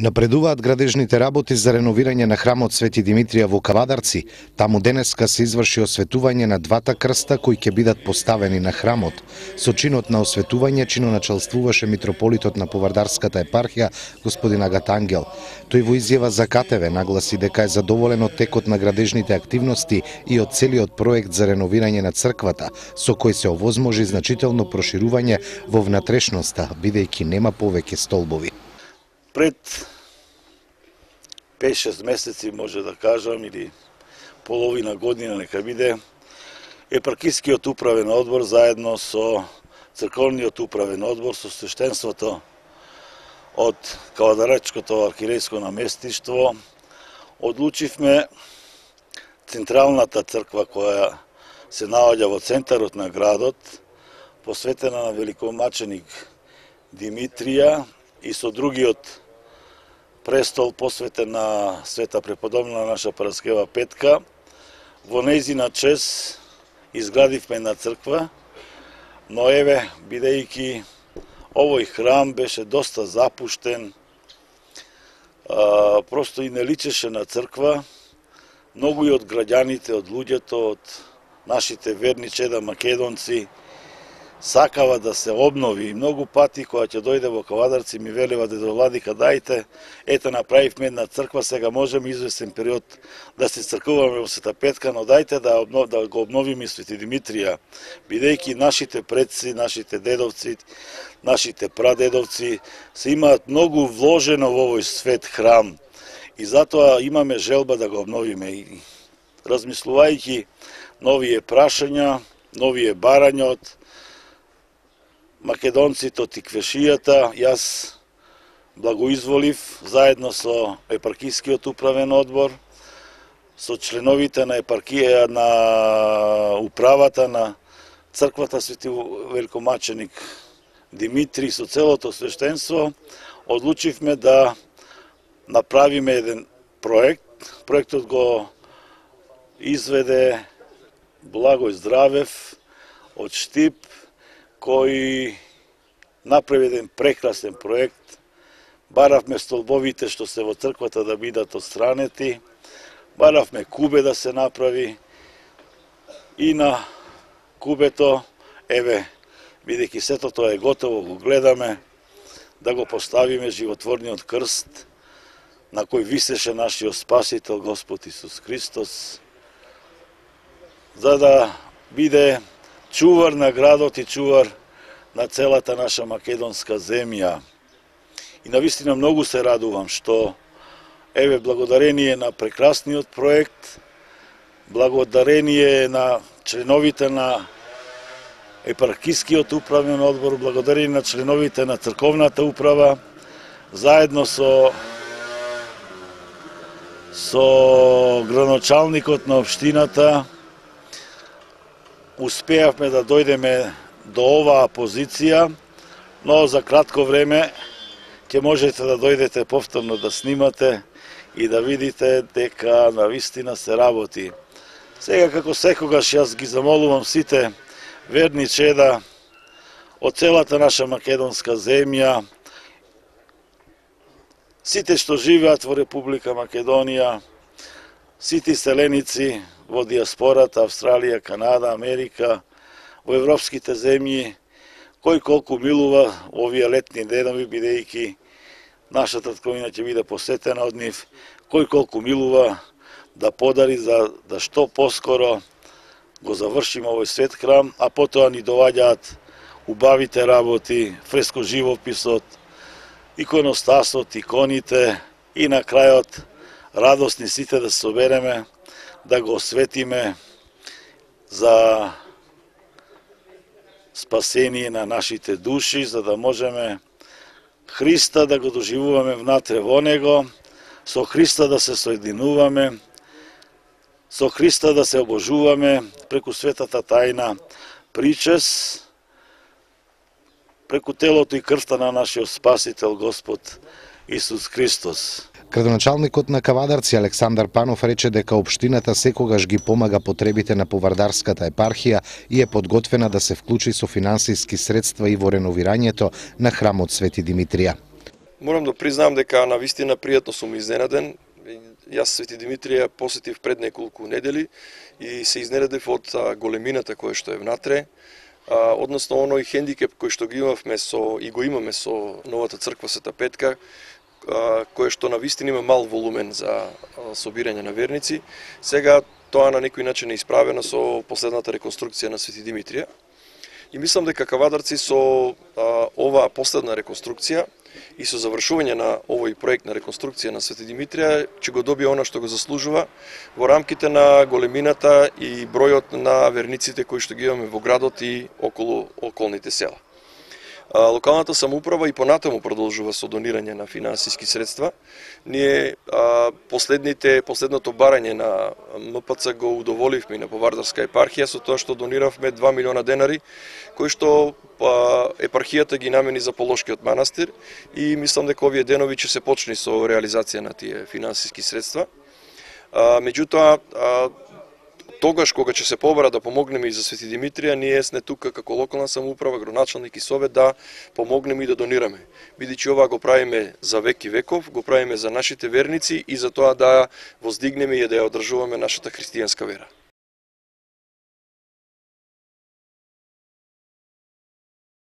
Напредуваат градежните работи за реновирање на храмот Свети Димитрија во Кавадарци. Таму денеска се изврши осветување на двата крста кои ќе бидат поставени на храмот. Со чинот на осветување чиноначалствуваше митрополитот на Повардарската епархија господин Агат Ангел. Тој во изјава за КТВ нагласи дека е задоволен од текот на градежните активности и од целиот проект за реновирање на црквата, со кој се овозможи значително проширување во внатрешноста, бидејќи нема повеќе столбови. Пред 5-6 месеци, може да кажам, или половина година нека биде, епархискиот управен одбор заедно со црковниот управен одбор, со свештенството од Кавадарачкото архиерејско наместништво, одлучивме централната црква која се наоѓа во центарот на градот, посветена на великомаченик Димитрија, и со другиот престол посветен на света преподобна наша Параскева Петка, во нејзина чест изградивме една црква, но еве, бидејќи овој храм беше доста запуштен, просто и не личеше на црква, многу и од граѓаните, од луѓето, од нашите верни чеда македонци, сакава да се обнови. Многу пати кога ќе дојде во Кавадарци ми велива дедо Владика, дајте, ете направивме една црква, сега можеме известен период да се цркуваме во Света Петка, но дајте да го обновиме Свети Димитрија, бидејќи нашите предци, нашите дедовци, нашите прадедовци се имаат многу вложено во овој свет храм и затоа имаме желба да го обновиме. И размислувајќи новие прашања, новие барања од македонците од тиквешијата, јас благоизволив заедно со епархискиот управен одбор, со членовите на епархија на управата на црквата Свети великомаченик Димитри, со целото свештенство, одлучивме да направиме еден проект. Проектот го изведе Благој Здравев од Штип, кој направи еден прекрасен проект. Баравме столбовите што се во црквата да бидат отстранети, баравме кубе да се направи и на кубето, еве, бидејќи сето тоа е готово, го гледаме, да го поставиме животворниот крст на кој висеше нашиот Спасител Господ Исус Христос, за да биде чувар на градот и чувар на целата наша македонска земја. И навистина многу се радувам што, еве, благодарение на прекрасниот проект, благодарение на членовите на епархискиот управен одбор, благодарение на членовите на црковната управа, заедно со градоначалникот на општината, успеавме да дојдеме до оваа позиција, но за кратко време ќе можете да дојдете повторно да снимате и да видите дека навистина се работи. Сега, како секогаш, јас ги замолувам сите верни чеда од целата наша македонска земја, сите што живеат во Република Македонија, сите селеници во диаспората, Австралија, Канада, Америка, во европските земји, кој колку милува овие летни денови, бидејќи нашата татковина ќе биде посетена од нив, кој колку милува да подари за да што поскоро го завршиме овој свет храм, а потоа ни доваѓаат убавите работи, фреско живописот, иконостасот, иконите и на крајот радосни сите да се собереме, да го осветиме за спасение на нашите души, за да можеме Христа да го доживуваме внатре во Него, со Христа да се соединуваме, со Христа да се обожуваме преку светата тајна причест, преку телото и крвта на нашиот Спасител Господ Исус Христос. Градоначалникот на Кавадарци Александар Панов рече дека општината секогаш ги помага потребите на Повардарската епархија и е подготвена да се вклучи со финансиски средства и во реновирањето на храмот Свети Димитрија. Морам да признам дека на вистина пријатно сум изненаден. Јас Свети Димитрија посетив пред неколку недели и се изненадев од големината која што е внатре, односно оној хендикеп кој што го имаме со новата црква Света Петка, која што на вистина има мал волумен за собирање на верници. Сега тоа на некој начин е исправено со последната реконструкција на Свети Димитрија. И мислам дека Кавадарци со оваа последна реконструкција и со завршување на овој проект на реконструкција на Свети Димитрија ќе го добие она што го заслужува во рамките на големината и бројот на верниците кои што ги имаме во градот и околу околните села. Локалната самоуправа и понатаму продолжува со донирање на финансиски средства. Ние последното барање на МПЦ го удоволивме на Повардарска епархија со тоа што дониравме 2 милиона денари, кои што епархијата ги намени за Полошкиот манастир и мислам дека овие денови ќе се почне со реализација на тие финансиски средства. Меѓутоа, тогаш кога ќе се побара да помогнеме и за Свети Димитрија, ние сме тука како локална самоуправа, градоначалник и совет да помогнеме и да донираме. Бидејќи ова го правиме за век и веков, го правиме за нашите верници и за тоа да воздигнеме и да ја одржуваме нашата христијанска вера.